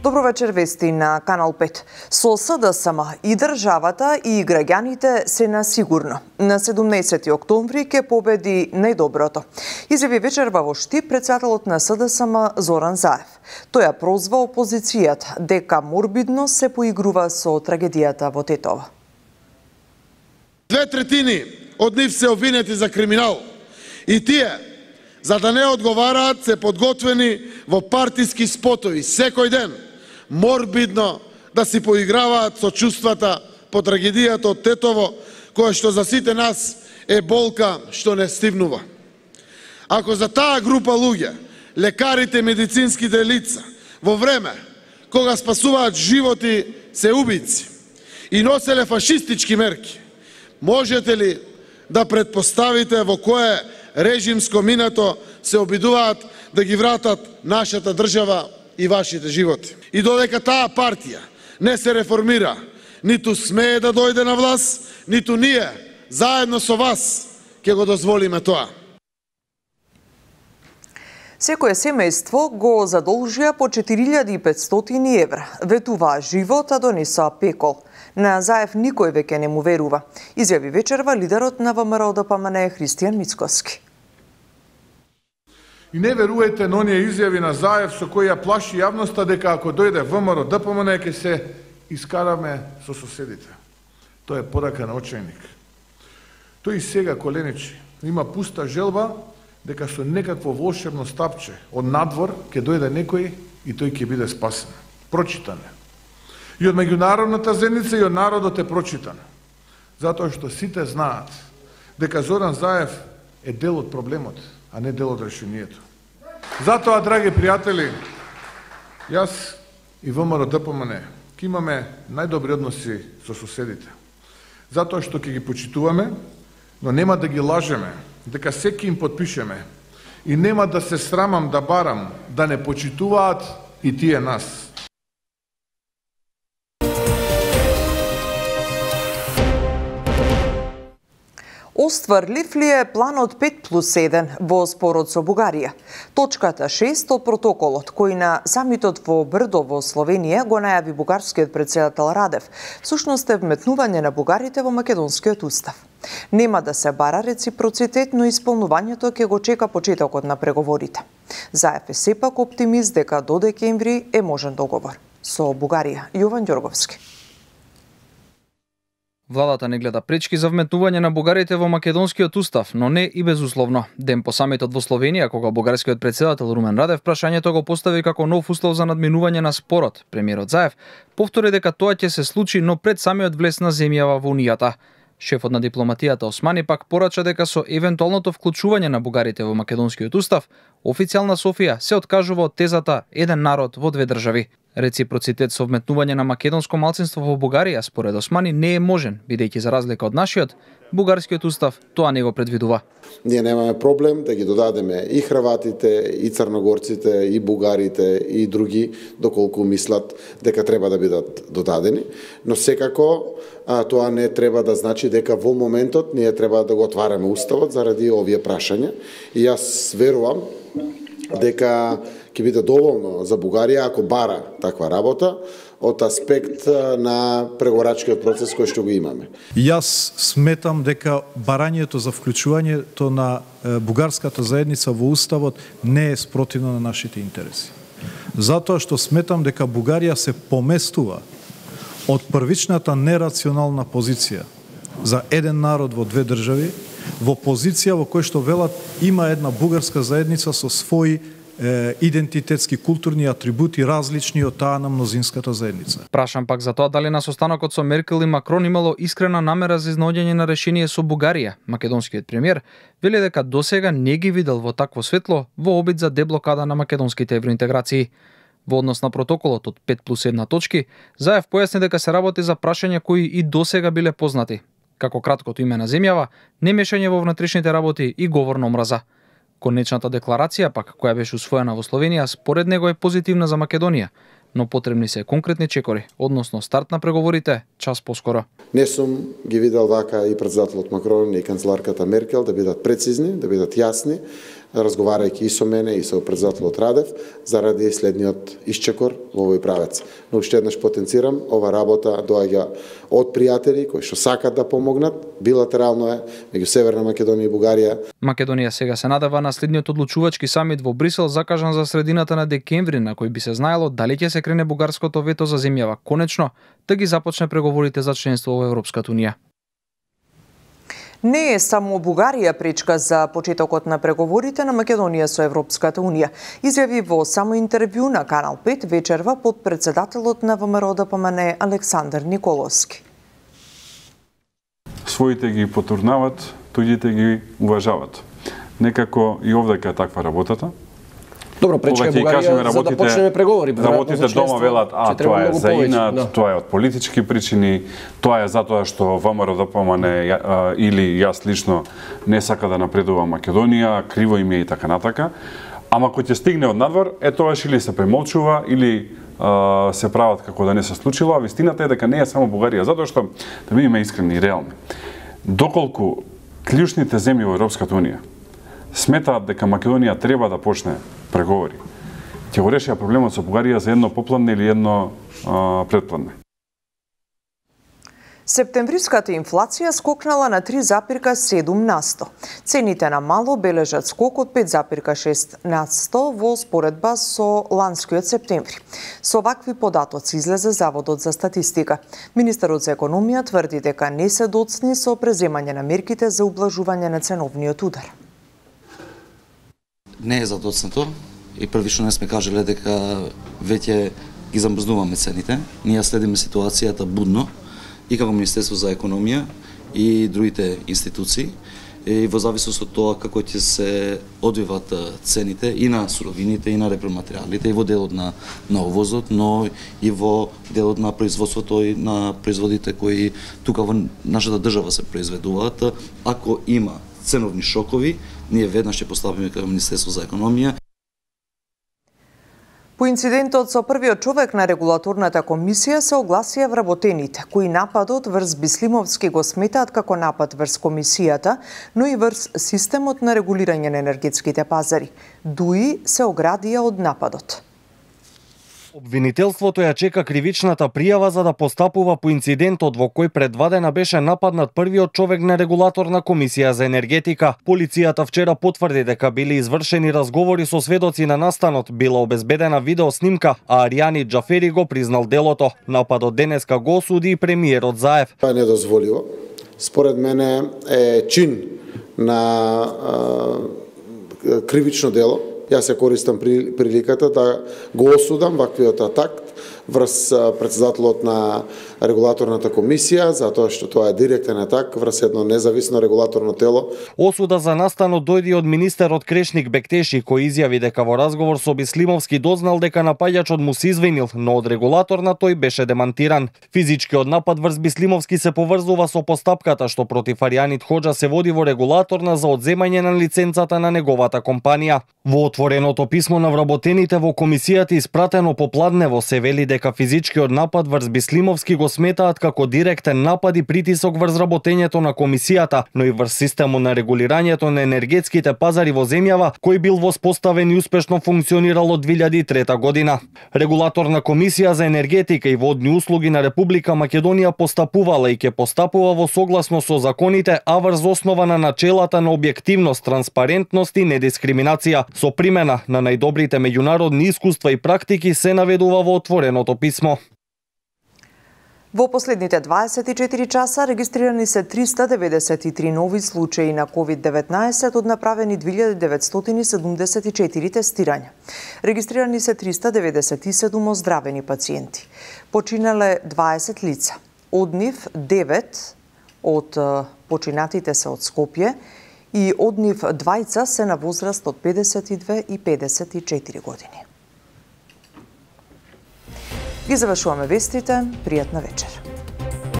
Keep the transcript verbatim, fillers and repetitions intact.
Добро вечер, вести на Канал пет. Со СДСМ и државата и граѓаните се на сигурно. На седумнаесети октомври ќе победи најдоброто. Изјави вечерва во Штип председателот на СДСМ Зоран Заев. Тој ја прозва опозицијата дека морбидно се поигрува со трагедијата во Тетово. Две третини од нив се обвинети за криминал и тие, за да не одговараат, се подготвени во партиски спотови секој ден, морбидно да си поиграваат со чувствата по трагедијата од Тетово, која што за сите нас е болка што не стивнува. Ако за таа група луѓе, лекарите, медицинските лица, во време кога спасуваат животи, се убици и носеле фашистички мерки, можете ли да предпоставите во кое режимско минато се обидуваат да ги вратат нашата држава и вашите животи? И додека таа партија не се реформира, ниту смее да дојде на власт, ниту ние, заедно со вас, ќе го дозволиме тоа. Секое семејство го задолжија по четири илјади и петстотини евра. Ветуваа живот, а донесоа пекол. На Заев никој веќе не му верува. Изјави вечерва лидерот на ВМРО Д П М Н Христијан Мицкоски. И не верувајте на оние изјави на Заев со кои ја плаши јавноста дека ако дојде ВМРО Д П М Н ќе се искараме со соседите. Тоа е порака на очајник. Тој и сега коленичи. Има пуста желба дека со некакво волшебно стапче од надвор ќе дојде некој и тој ќе биде спасен. Прочитане. И од меѓународната заедница и од народот е прочитан. Затоа што сите знаат дека Зоран Заев е дел од проблемот, а не дел од решението. Затоа, драги пријатели, јас и ВМРО Д П М Н ќе имаме најдобри односи со соседите. Затоа што ќе ги почитуваме, но нема да ги лажеме, дека секи им подпишеме и нема да се срамам да барам да не почитуваат и тие нас. Остварлив ли е планот пет плюс еден во спорот со Бугарија? Точката шест од протоколот, кој на самитот во Брдо во Словенија го најави бугарскиот председател Радев, всушност е вметнување на бугарите во македонскиот устав. Нема да се бара реципроцитет, но исполнувањето ќе го чека почетокот на преговорите. Заев е сепак оптимист дека до декември е можен договор. Со Бугарија, Јован Ѓорговски. Владата не гледа пречки за вметнување на бугарите во македонскиот устав, но не и безусловно. Ден по самитот во Словенија, кога бугарскиот председател Румен Радев прашањето го постави како нов услов за надминување на спорот, премиерот Заев повтори дека тоа ќе се случи, но пред самиот влез на земјава во Унијата. Шефот на дипломатијата Османи пак порача дека со евентуалното вклучување на бугарите во македонскиот устав, официјална Софија се откажува од тезата еден народ во две држави. Реципроцитет со вметнување на македонско малцинство во Бугарија, според Османи, не е можен, бидејќи за разлика од нашиот, бугарскиот устав тоа не го предвидува. Ние немаме проблем да ги додадеме и хрватите, и црногорците, и бугарите, и други, доколку мислат дека треба да бидат додадени, но секако а, тоа не треба да значи дека во моментот ние треба да го отвараме уставот заради овие прашања. И јас верувам дека ќе биде доволно за Бугарија ако бара таква работа од аспект на преговорачкиот процес кој што го имаме. Јас сметам дека барањето за вклучувањето на бугарската заедница во уставот не е спротивно на нашите интереси. Затоа што сметам дека Бугарија се поместува од првичната нерационална позиција за еден народ во две држави во позиција во која што велат има една бугарска заедница со своји идентитетски културни атрибути различни од таа на мнозинската заедница. Прашам пак за тоа дали на состанокот со Меркел и Макрон имало искрена намера за изнаоѓање на решение со Бугарија. Македонскиот премиер вели дека досега не ги видел во такво светло во обид за деблокада на македонските евроинтеграции. Во однос на протоколот од пет плюс една точки, Заев појасни дека се работи за прашања кои и досега биле познати, како краткото име на земјава, немешање во внатрешните работи и говор на омраза. Конечната декларација пак, која беше усвоена во Словенија, според него е позитивна за Македонија, но потребни се конкретни чекори, односно старт на преговорите час поскоро. Не сум ги видел вака и председателот Макрон и канцеларката Меркел да бидат прецизни, да бидат јасни, разговарајќи и со мене и со председателот Радев, заради следниот исчекор во овој правец. Но уште еднаш потенцирам, ова работа доаѓа од пријатели кои што сакат да помогнат, билатерално е меѓу Северна Македонија и Бугарија. Македонија сега се надева на следниот одлучувачки самит во Брисел закажан за средината на декември, на кој би се знаело дали ќе се крене бугарското вето за земјава конечно да ги започне преговорите за членство во Европската унија. Не е само Бугарија пречка за почетокот на преговорите на Македонија со Европската унија, изјави во само интервју на Канал пет вечерва подпредседателот на ВМРО Д П М Н Александар Николовски. Своите ги потурнават, туѓите ги уважават. Некако и овдека е таква работата. Добро, пречка е Бугарија за да почнеме преговори. Работите дома велат, а тоа е за инат, да. Тоа е од политички причини, тоа е затоа што ВМРО Д П М Н или јас лично не сака да напредува Македонија, криво им е и така натака. Ама кој ќе стигне од надвор, е тоаш или се премолчува, или а, се прават како да не се случило, а вистината е дека не е само Бугарија, затоа што, да бидеме искрени и реални, доколку клучните земји во Европската унија сметаат дека Македонија треба да почне преговори, ќе го решија проблемот со Бугарија за едно попладне или едно а, предпладне. Септемвриската инфлација скокнала на три запирка седум на сто. Цените на мало бележат скок од пет запирка шест на сто во споредба со ланскиот септември. Со вакви податоци излезе Заводот за статистика. Министерот за економија тврди дека не се доцни со преземање на мерките за ублажување на ценовниот удар. Не е задоцнато и првично не сме кажале дека веќе ги замрзнуваме цените. Ние следиме ситуацијата будно и како Министерство за економија и другите институции и во зависност од тоа како ќе се одвиват цените и на суровините и на репроматеријалите и во делот на на увозот, но и во делот на производството и на производите кои тука во нашата држава се произведуваат. Ако има ценовни шокови, ние веднаш ќе постапиме како Министерство за економија. По инцидентот со првиот човек на регулаторната комисија се огласија вработените, кои нападот врз Бислимовски го сметаат како напад врз комисијата, но и врз системот на регулирање на енергетските пазари. Дуи се оградија од нападот. Обвинителството ја чека кривичната пријава за да постапува по инцидентот во кој пред два дена беше нападнат првиот човек на регулаторна комисија за енергетика. Полицијата вчера потврди дека били извршени разговори со сведоци на настанот, била обезбедена видеоснимка, а Аријани Џафери го признал делото. Нападот денеска го осуди и премиерот Заев. Тоа е недозволиво. Според мене е чин на а, кривично дело. Јас се користам приликата да го осудам ваквиот атак врз председателот на регулаторната комисија, затоа што тоа е директен атак врз едно независно регулаторно тело. Осуда за настанот дојде од министерот Крешник Бектеши, кој изјави дека во разговор со Бислимовски дознал дека напаѓачот му се извинил, но од регулаторна тој беше демантиран. Физичкиот напад врз Бислимовски се поврзува со постапката што против Аријанит Хоџа се води во регулаторна за одземање на лиценцата на неговата компанија. Во отвореното писмо на вработените во комисијата испратено попладнево се вели дека физичкиот напад врз Бислимовски го сметаат како директен напад и притисок врз работењето на комисијата, но и врз системот на регулирањето на енергетските пазари во земјава, кој бил воспоставен и успешно функционирал од две илјади и трета година. Регулаторна комисија за енергетика и водни услуги на Република Македонија постапувала и ќе постапува во согласно со законите, а врз основа на начелата на објективност, транспарентност и недискриминација, со примена на најдобрите меѓународни искуства и практики, се наведува во отвореното писмо. Во последните дваесет и четири часа регистрирани се триста деветдесет и три нови случаи на ковид деветнаесет од направени две илјади деветстотини седумдесет и четири тестирања. Регистрирани се триста деветдесет и седум оздравени пациенти. Починале дваесет лица. Од нив девет од починатите се од Скопје и од нив двајца се на возраст од педесет и две и педесет и четири години. Ги завршуваме вестите. Пријатна вечер.